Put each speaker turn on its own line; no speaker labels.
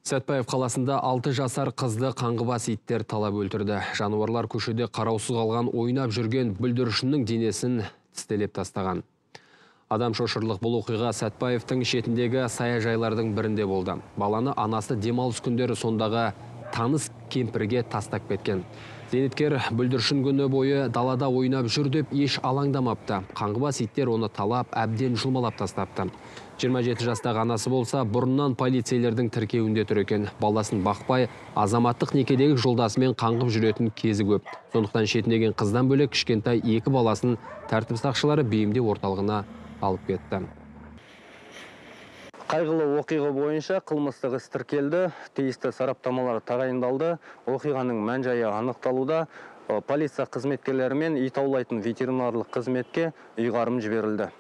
Сәтбаев қаласында 6 жасар қызды қаңғыбас иттер талап өлтірді. Жануарлар көшеде қараусыз қалған ойнап жүрген бүлдіршіннің денесін тістелеп тастаған. Адам шошырлық бұл оқиға Сәтбаевтың шетіндегі саяжайлардың бірінде болды. Баланы анасы демалыс күндері сондағы таныс кемпірге тастап кеткен. Зейнеткер бүлдіршін күні бойы далада ойнап жүр деп еш алаңдамапты. Қаңғыбас иттер оны талап, әбден жұлмалап тастапты. 27 жастағы анасы болса, бұрыннан полицейлердің тіркеуінде тұр екен. Баласын бақпай, азаматтық некедегі жолдасымен қаңғып жүретін кезі көп. Сондықтан шетінеген қыздан бөлек кішкентай 2 баласын тәртіп сақшылары бейімдеу орталығына алып кетті.
Қайғылы оқиға бойынша қылмыстық іс тіркелді, тиісті сараптамалар тағайындалды, оқиғаның мән-жайы анықталуда, полиция қызметкерлері мен ит аулайтын ветеринарлық қызметке ұйғарым жіберілді.